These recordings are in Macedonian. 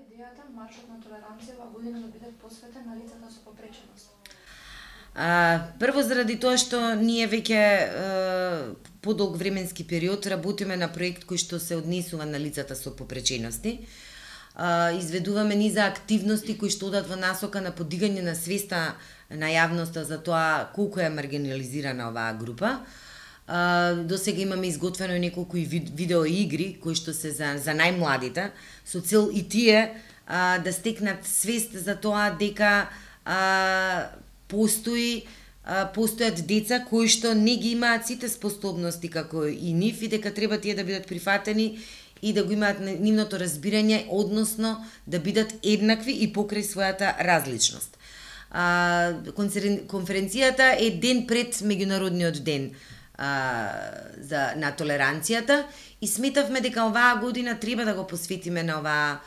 идејата маршот на толеранција оваа година да биде посветен на лицата со попреченост? Прво заради тоа што ние веќе подолг временски период работиме на проект кој што се однесува на лицата со попречености. Изведуваме низа активности кои што одат во насока на подигање на свеста на јавноста за тоа колку е маргинализирана оваа група. До сега имаме изготвено неколку видеоигри кои што се за најмладите, со цел и тие да стекнат свест за тоа дека постојат деца кои што не ги имаат сите способности како и нив и дека треба тие да бидат прифатени и да го имаат нивното разбирање, односно да бидат еднакви и покрај својата различност. Конференцијата е ден пред меѓународниот ден на толеранцијата и сметавме дека оваа година треба да го посветиме на оваа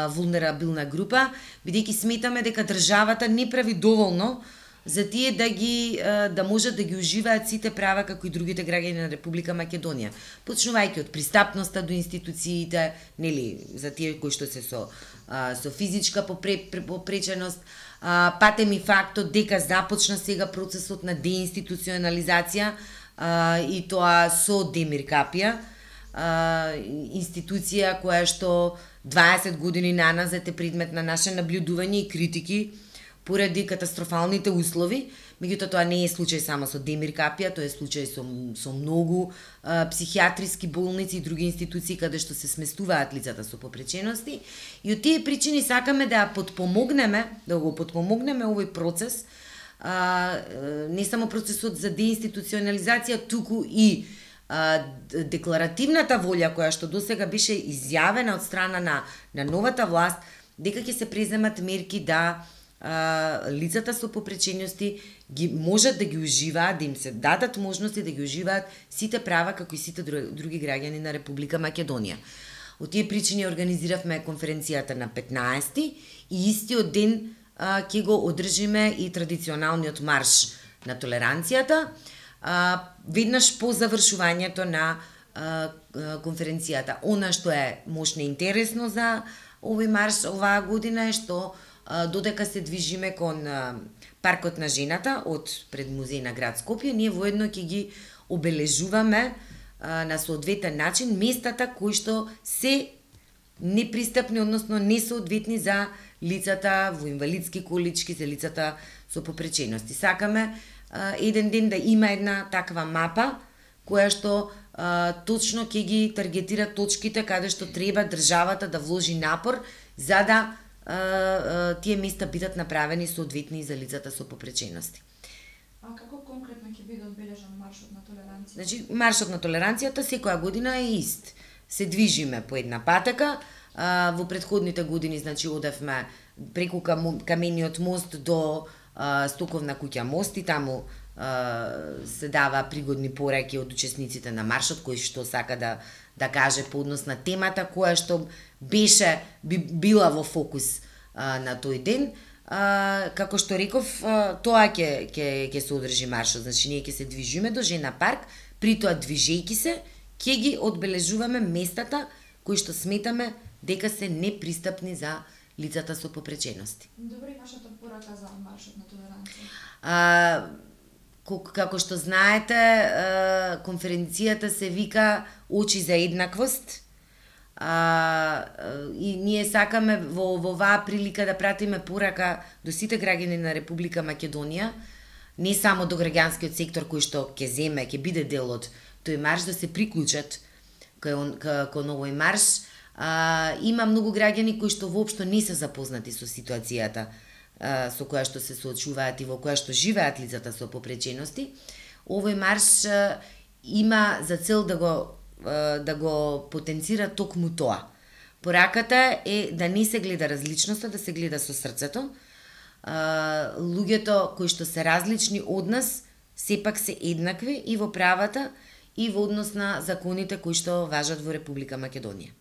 вулнерабилна група, бидејќи сметаме дека државата не прави доволно за тие да можат да ги уживаат сите права како и другите граѓани на Република Македонија. Почнувајќи од пристапноста до институциите, нели, за тие кои што се со физичка попреченост, патем и фактот дека започна сега процесот на деинституционализација и тоа со Демир Капија, институција која што 20 години наназад е предмет на наше наблюдување и критики поради катастрофалните услови. Меѓутоа тоа не е случај само со Демир Капија, тоа е случај со многу психијатриски болници и други институции каде што се сместуваат лицата со попречености. И од тие причини сакаме да го потпомогнеме овој процес, не само процесот за деинституционализација, туку и декларативната волја која што досега беше изјавена од страна на новата власт дека ќе се преземат мерки да лицата со попречености можат да ги уживаат, да им се дадат можности да ги уживаат сите права како и сите други граѓани на Република Македонија. Од тие причини организиравме конференцијата на 15 и истиот ден ќе го одржиме и традиционалниот марш на толеранцијата, веднаш по завршувањето на конференцијата. Она што е можно интересно за овој марш оваа година е што додека се движиме кон паркот на жената од пред музеј на град Скопје, ние воедно ќе ги обележуваме на соодветен начин местата кои што се непристапни, односно несоодветни за лицата во инвалидски колички, за лицата со попречености. Сакаме еден ден да има една таква мапа која што точно ќе ги таргетира точките каде што треба државата да вложи напор за да тие места бидат направени соодветни за лицата со попречености. А како конкретно ќе биде одбележан маршот на толеранција? Значи, маршот на толеранцијата секоја година е ист. Се движиме по една патека. Во претходните години, значи, одевме преку камениот мост до Стоковна куќа мост и таму се дава пригодни пораки од учесниците на маршот кои што сака да каже по однос на темата која што била во фокус на тој ден. Како што реков, тоа ќе се одржи маршот, значи ние ќе се движиме до Жена парк, при тоа движејќи се ќе ги одбележуваме местата кои што сметаме дека се непристапни за лицата со попречености. Добро, и вашата порака за маршот на толеранција? Како што знаете, конференцијата се вика Очи за еднаквост. И ние сакаме во оваа прилика да пратиме порака до сите граѓани на Република Македонија, не само до граѓанскиот сектор кој што ќе биде дел од тој марш, да се приклучат кон овој марш. Има многу граѓани кои што воопшто не се запознати со ситуацијата со која што се соочуваат и во која што живеат лицата со попречености. Овој марш има за цел да го потенцира токму тоа. Пораката е да не се гледа различноста, да се гледа со срцето. Луѓето кои што се различни од нас сепак се еднакви и во правата и во однос на законите кои што важат во Република Македонија.